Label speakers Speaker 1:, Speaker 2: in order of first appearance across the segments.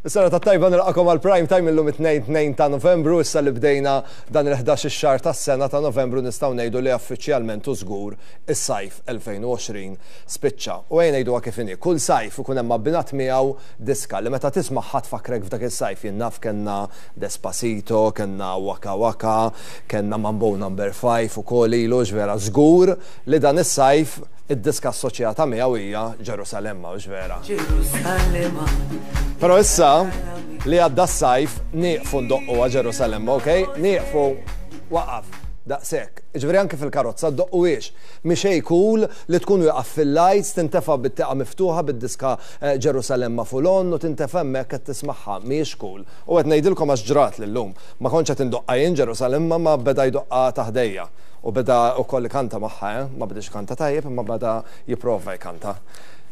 Speaker 1: Is-sena tajba nilqakom għal prime time illum it-2 ta' Novembru, issa li bdejna dan il-11 xahar tas-sena ta' Novembru nistgħu ngħidu li uffiċjalment u żgur is-sajf 2020 spiċċa. U ejja ngħiduha kif inhi, kull sajf ikun hemm abbinat miegħu diska li meta tismagħha tfakkrek f'dak is-sajf. Jien naf kellna Despacito, kellna Waka Waka, kellna Mambo Number 5 ukoll ilu vera żgur li dan is-sajf id-diska assoċjata miegħu hija Ġerusalemma, hux vera?
Speaker 2: Ġerusalemma.
Speaker 1: Però issa li għadda s-sajf nieqfu ndoqqu Ġerusalemma, ok? Nieqfu waqaf daqshekk. Ġifieri anke fil-karozza ddoqquhiex. Mhi xejn cool li tkun wieqaf fil-lights, tintefa' bit-tieqa miftuħa bid-diska Ġerusalemma full on u tintefa' hemmhekk qed tismagħha. Mhijiex cool. U qed ngħidilkom għax ġrat llum. Ma kontx qed indoqqa jien Ġerusalemma ma beda jdoqqa ta' ħdejja. U beda wkoll ikanta magħha, eh? Ma bediex ikanta tajjeb imma beda jipprova jkanta.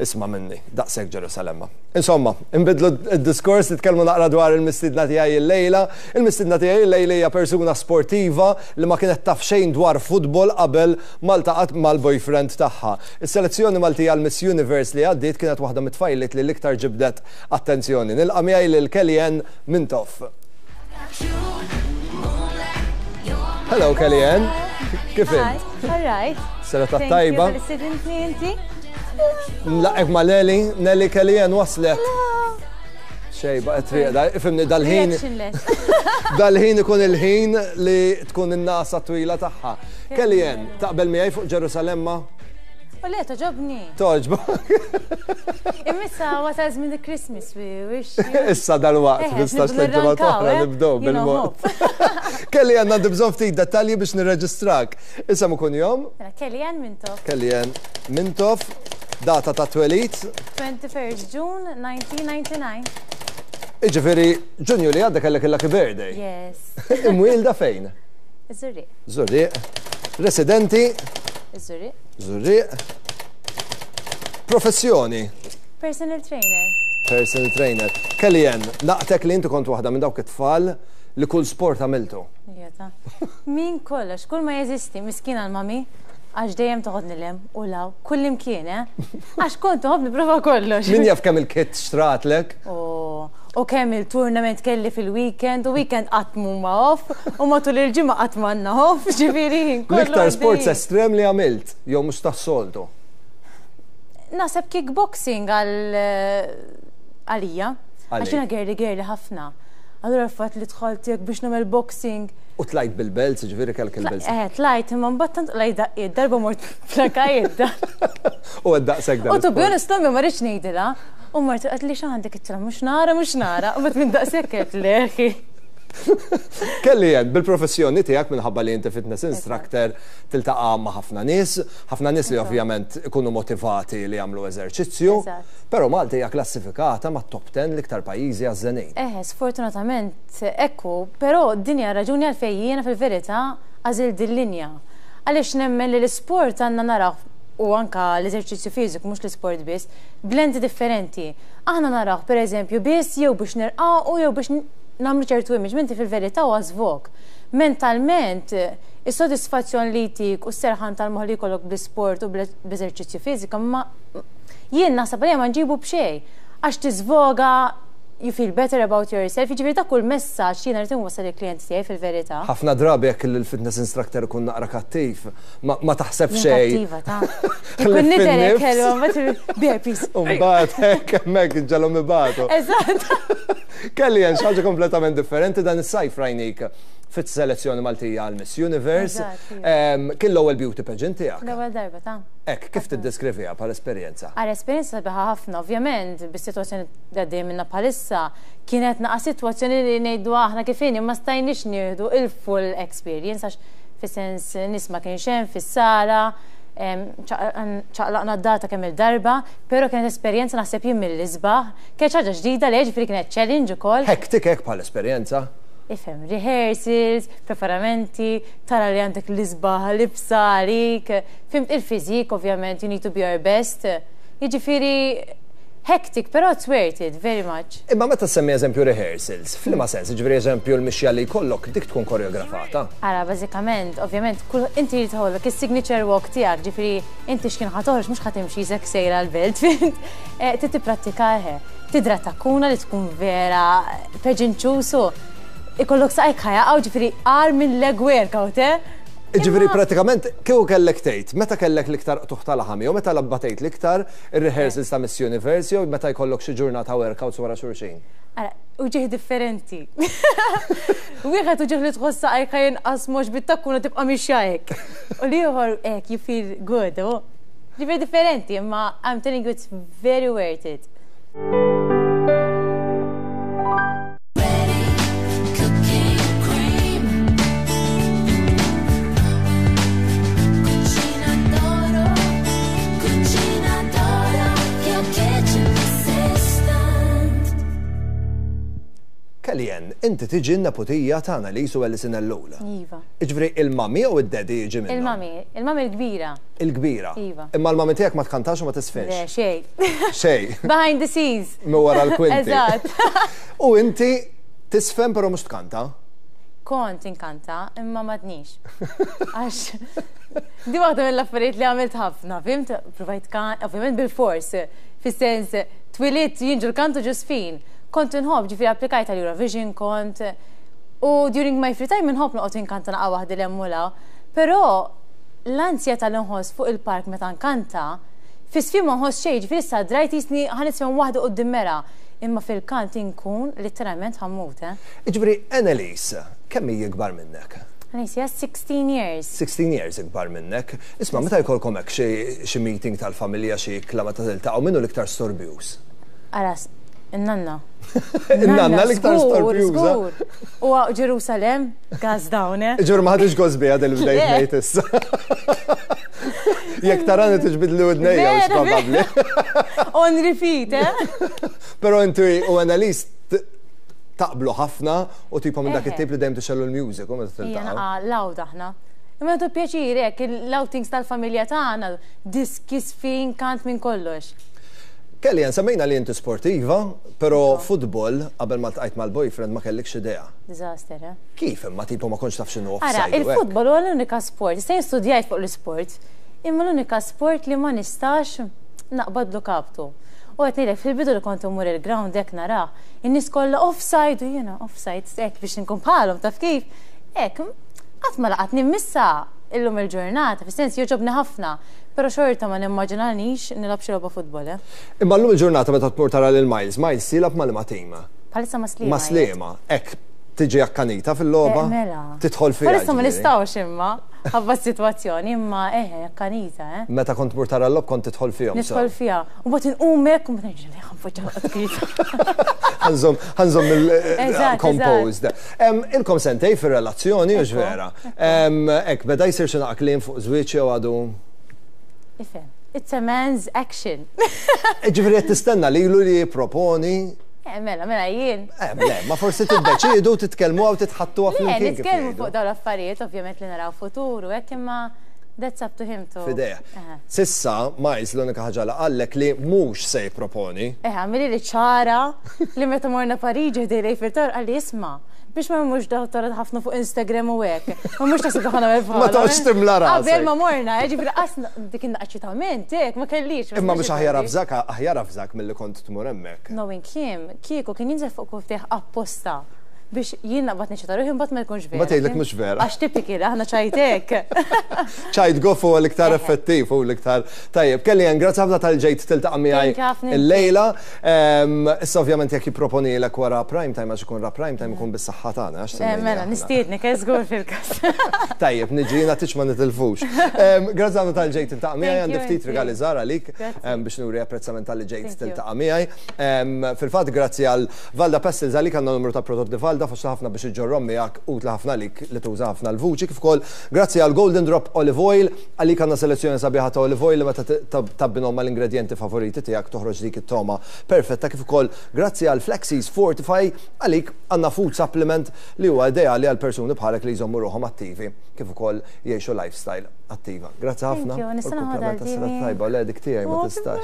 Speaker 1: Isma' minni, daqshekk Ġerusalemma. Insomma, inbidlu d-diskors, nitkellmu naqra dwar il-mistiedna tiegħi illejla. Il-mistiedna tiegħi illejla hija persuna sportiva li ma kienet taf xejn dwar futbol qabel ma ltaqgħet mal-boyfriend tagħha. Is-selezzjoni Maltija għal Miss Universe li għaddiet kienet waħda mit-tfajliet li l-iktar ġibdet attenzjoni. Nilqa' miegħi lil Kellyanne Mintoff. Hello Kellyanne, kif int?
Speaker 3: All right.
Speaker 1: Serata tajba. Nlaqqgħek ma' Nelly, Nelly Kellyanne waslet. Xej, baqgħet rieqda, ifhimni dal-ħin. Dal-ħin ikun il-ħin li tkun in-nasa twila tagħha. Kellyanne, taqbel miegħi fuq Ġerusalemma?
Speaker 3: U le, togħġobni.
Speaker 1: Togħġbok.
Speaker 3: Imma wasal żmien il-Christmas, we wish. you.
Speaker 1: Issa dal-waqt, 15
Speaker 3: nibdew
Speaker 1: ġimgħa oħra
Speaker 3: nirrankaw, eh?
Speaker 1: nibdew
Speaker 3: You know,
Speaker 1: bil-mod. Kelly għandna bżonn ftit dettalji biex nirreġistrak. Isem u kunjom,
Speaker 3: Mela, Kellyanne Mintoff,
Speaker 1: Kellyanne Mintoff, data ta' twelid,
Speaker 3: 21st June 1999.
Speaker 1: Iġifieri Ġunju li għadda kellek il-lucky birthday.
Speaker 3: Yes.
Speaker 1: Imwielda fejn?
Speaker 3: Iż-Żurrieq.
Speaker 1: Żurrieq. Residenti?
Speaker 3: Iż-Żurrieq.
Speaker 1: Żurrieq. Professjoni?
Speaker 3: Personal trainer.
Speaker 1: Personal trainer. Kellyanne, naqtek li inti kont waħda minn dawk it-tfal li kull sport għamiltu.
Speaker 3: Jeta. Min kollox, kull ma jeżisti, miskina l-mami, għax dejjem toħodni 'l hemm u 'l hawn, kull imkien, eh? Għax kont toħodni prova kollox.
Speaker 1: Min jaf kemm il-kit xtratlek?
Speaker 3: U kemm il-tournament kelli fil-weekend, u weekend qatt ma off, u matul il-ġimgħa qatt m'għandna off, ġifieri kollu
Speaker 1: L-iktar sports
Speaker 3: għaddej.
Speaker 1: estrem li għamilt, jew mhux tas-soltu.
Speaker 3: Naħseb kickboxing għal għalija. Għax jiena girly girly ħafna. Allura l-fatt li dħalt hekk biex nagħmel boxing.
Speaker 1: U tlajt bil-belts, ġifieri kellek il-belts.
Speaker 3: Eh, tlajt, imma mbagħad tant tlajt daqqiet, darba mort flakajiet.
Speaker 1: U għed daqshekk
Speaker 3: U to be honest, ommi ma rridx ngħidilha. U mort qed li x'għandek it mhux nara, mhux nara. U minn daqshekk qed leħi.
Speaker 1: Kellyanne, bil-professjoni tiegħek minħabba li inti fitness instructor tiltaqa' ma' ħafna nies, ħafna nies li ovvjament ikunu motivati li jagħmlu eżerċizzju, però Malta hija klassifikata ma' top 10 l-iktar pajjiżi għażżenin.
Speaker 3: Eh, sfortunatament ekku, però din hija raġuni għalfejn jiena fil-verità għażilt din-linja. Għaliex nemmen li l-isport għandna naraw u anka l-eżerċizzju fiżiku mhux l-isport biss, b'lenti differenti. Aħna naraw per eżempju biss jew biex nirqaqu jew biex nagħmlu ċertu image, mentri fil-verità huwa żvog. Mentalment, is-sodisfazzjon li jtik u s-serħan tal-moħħ li jkollok bl-isport u bl-eżerċizzju fiżiku, ma jien naħseb għalija ma nġibu b'xejn. Għax tiżvoga, you feel better about yourself, jiġifieri dak kull messaġġ jiena rrid inwassal il-klijenti tiegħi fil-verità.
Speaker 1: Ħafna drabi jekk il-fitness instructor ikun naqra kattiv, ma taħseb xejn.
Speaker 3: Kattiva ta' Ikun nidherek hello, ma burpees.
Speaker 1: Umbagħad hekk hemmhekk ġalhom ibatu.
Speaker 3: Eżatt.
Speaker 1: Kellyanne, xi ħaġa kompletament differenti dan is-sajf rajnik fit-selezzjoni Maltija għal Miss Universe. Kien l-ewwel beauty pageant tiegħek.
Speaker 3: L-ewwel darba ta'
Speaker 1: Hekk, kif tiddeskriviha bħala esperjenza?
Speaker 3: Għal esperjenza sabiħa ħafna, ovvjament, bis-sitwazzjoni li għaddejja minna bħalissa, kienet naqa' sitwazzjoni li ngħidu aħna kif inhi ma stajniex nieħdu il-full experience għax fis-sens nies ma kienx hemm fis-sala, ċaqlaqna d-data kemm il-darba, però kienet esperjenza naħseb jien mill-isbaħ, kienet ħaġa ġdida li ġifieri kienet challenge ukoll.
Speaker 1: Hectic hekk bħala esperjenza?
Speaker 3: Ifhem, rehearsals, preparamenti, tara li għandek l-isbaħ libsa għalik, fhimt il-fiżik ovvjament, you need to be your best. Jiġifieri Hectic, però it's worth it, very much.
Speaker 1: Imma meta ssemmi eżempju rehearsals, f'liema sens, jiġifieri eżempju l-mixja li jkollok dik tkun koreografata?
Speaker 3: Ara, bażikament, ovvjament, kull inti jrid ikollok is-signature walk tiegħek, ġifieri inti x'kien ħa toħroġ mhux ħa timxi qisek sejra l-belt, fhimt? Eh, trid tipprattika eħe. Tidra takkuna li tkun vera pageant shoes u ikollok saqajk ħa jaqgħu, ġifieri agħar minn leg workout, eh?
Speaker 1: Jiġifieri pratikament kieku kellek tgħid, meta kellek l-iktar qtugħ ta' laħam jew meta batejt l-iktar ir-rehearsals ta' Miss Universe jew meta jkollok xi ġurnata workouts wara xulxin?
Speaker 3: Ara, uġigħ differenti. Wieħed uġigħ li tħoss saqajk ħa jinqasmu għax bit-takkuna tibqa' mixja hekk. U l-ieħor hekk you feel good. Ġifieri differenti, imma I'm telling you it's very worth it.
Speaker 1: Kellyanne, inti tiġi n-neputija ta' Annalise u Alison Ellul.
Speaker 3: Iva.
Speaker 1: Jiġifieri il-mami jew id-daddy jiġi minnhom?
Speaker 3: Il-mami, il-mami l-kbira.
Speaker 1: Il-kbira.
Speaker 3: Iva.
Speaker 1: Imma l-mami tiegħek ma tkantax u ma tisfinx?
Speaker 3: Le, xejn.
Speaker 1: Xejn.
Speaker 3: Behind the scenes.
Speaker 1: Minn wara l-kwinti.
Speaker 3: Eżatt.
Speaker 1: U inti tisfen però mhux tkanta?
Speaker 3: Kont inkanta, imma m'għadnix. Għax di waħda mill-affarijiet li għamilt ħafna, fhimt? Provajt kan, ovvjament bil-fors, fis-sens twilidt jien ġol-kantu ġo sfin. Kont inħobb, ġifieri applikajt għal Eurovision kont, u during my free time inħobb noqgħod inkanta naqa' waħdi 'l hemm u 'l hawn. Però l-anzjetà li nħoss fuq il-park meta nkanta, fis-sfin ma nħoss xejn, ġifieri issa drajt qisni ħa nisfen waħdi quddiem mera. Imma fil-kant inkun litteralment ħa mmut, eh.
Speaker 1: Jiġifieri Annelies, kemm hi ikbar minnek?
Speaker 3: Annelies hija 16 years.
Speaker 1: 16 years ikbar minnek. Isma' meta jkollkom hekk xi xi meeting tal-familja, xi ikla meta tiltaqgħu, min hu l-iktar storbjuż?
Speaker 3: Ara, in-nanna.
Speaker 1: In-nanna l-iktar storbjuża.
Speaker 3: Żgur, żgur. U Ġerusalemm, gas down, eh.
Speaker 1: Ġur ma ħadix gost biha din li bdejt ngħid issa. Jekk tarani tiġbidli widnejja mhux probabbli.
Speaker 3: On repeat, eh?
Speaker 1: Però inti u Annalise taqblu ħafna u tipo minn dak it-tip li dejjem tixgħelu l-music u meta tiltaqgħu.
Speaker 3: Loud aħna. Imma nagħtu pjaċir hekk, l-outings tal-familja tagħna, diski, sfin, kant minn kollox.
Speaker 1: Kellyanne, semmejna li inti sportiva, però futbol qabel ma ltqajt mal-boyfriend ma kellikx idea.
Speaker 3: Disaster, eh?
Speaker 1: Kif imma tipo ma kontx taf x'inhu offside?
Speaker 3: Ara, il-futbol huwa l-unika sport, issa jien studjajt fuq l-isport, imma l-unika sport li ma nistax naqbadlu kaptu. U qed ngħidlek fil-bidu li kont immur il-ground hekk narah, in-nies kollha offside u jiena offside hekk biex inkun bħalhom taf kif. Hekk, qatt ma laqatni m'issa illum il-ġurnata, fis-sens jogħġobni ħafna. Però xorta ma nimmaġinanix nilgħab xi logħba futbol, eh.
Speaker 1: Imma llum il-ġurnata meta tmur tara lil Miles, Miles jilgħab ma' liema tim?
Speaker 3: Bħalissa ma' Sliema.
Speaker 1: Ma' Sliema. Hekk tiġi akkanita fil-logħba?
Speaker 3: Eh, mela.
Speaker 1: Tidħol fiha.
Speaker 3: Bħalissa ma nistgħux imma, ħabba s-sitwazzjoni, imma eħe, akkanita, eh.
Speaker 1: Meta kont tmur tara l-logħob kont tidħol fihom.
Speaker 3: Nidħol fiha. U mbagħad inqum hekk u mbagħad nerġa' lejha npoġġa noqgħod kwieta.
Speaker 1: Ħa nżomm, ħa nżomm il-composed. Ilkom sentejn fir-relazzjoni, hux vera? Hekk, beda jsir xi naqa' kliem fuq żwieġ jew għadu?
Speaker 3: Ifhem, it's a man's action.
Speaker 1: Ġifieri qed tistenna lilu li jipproponi?
Speaker 3: Eh, mela, mela jien.
Speaker 1: Eh, le, ma forsi tiddeċiedu titkellmu għaw titħattuha
Speaker 3: flimkien. Le, nitkellmu fuq dawn l-affarijiet, ovvjament li naraw futur u hekk imma that's up to him to.
Speaker 1: F'idejh. S'issa, Miles l-unika ħaġa li qallek li mhux se jipproponi.
Speaker 3: Eh, għamilli li ċara li meta morna Pariġi ħdej l-Eiffel Tower qalli isma' biex ma mmurx daw tara ħafna fuq Instagram u hekk. Ma mhux taħseb ħana nagħmel
Speaker 1: Ma toqgħodx timla rasek.
Speaker 3: Qabel ma morna, eh, ġifieri qas dik in-eċitament hekk ma kellix.
Speaker 1: Imma mhux aħjar avżak, aħjar avżak milli kont tmur hemmhekk.
Speaker 3: Knowing him, kieku kien jinżel fuq kuftejh apposta biex jien naqbad neċita ruħi mbagħad ma jkunx vera.
Speaker 1: Ma tgħidlek mhux vera.
Speaker 3: Għax typical, aħna ċajt hekk.
Speaker 1: Ċajt goff huwa l-iktar effettiv u l-iktar tajjeb. Kellyanne, grazzi ħafna talli ġejt tiltaqa' miegħi illejla. Issa ovvjament jekk jipproponilek wara prime time għax ikun ra prime time ikun bis-saħħa tagħna għax
Speaker 3: eh, Mela, nistiednek, eh, żgur fil-każ.
Speaker 1: Tajjeb, niġi jiena tiġ ma nitilfux. Grazzi ħafna talli ġejt tiltaqa' miegħi, għandi ftit rigali żgħar għalik biex nuri apprezzament talli ġejt tiltaqa' miegħi. Fil-fatt grazzi għal Valda Pestils għalik għandna numru ta' prodotti Valda. għodda faċli ħafna biex iġġorrhom miegħek, utli ħafna għalik li tuża ħafna l-vuċi, kif ukoll grazzi għal Golden Drop Olive Oil, għalik għandna selezzjoni sabiħa ta' olive oil li meta tabbinhom mal-ingredjenti favoriti tiegħek toħroġ dik it-togħma perfetta, kif ukoll grazzi għal Flexies Fortify, għalik għandna food supplement li huwa ideali għal persuni bħalek li jżommu ruħhom attivi kif ukoll jgħixu lifestyle attiva. Grazzi ħafna.
Speaker 3: Thank you, nista'
Speaker 1: naħodha tajba, le dik tiegħi ma tistax.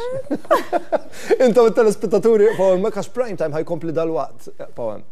Speaker 1: Intom it-telespettaturi, Paul, ma kax prime time ħajkompli dal-waqt, Paul.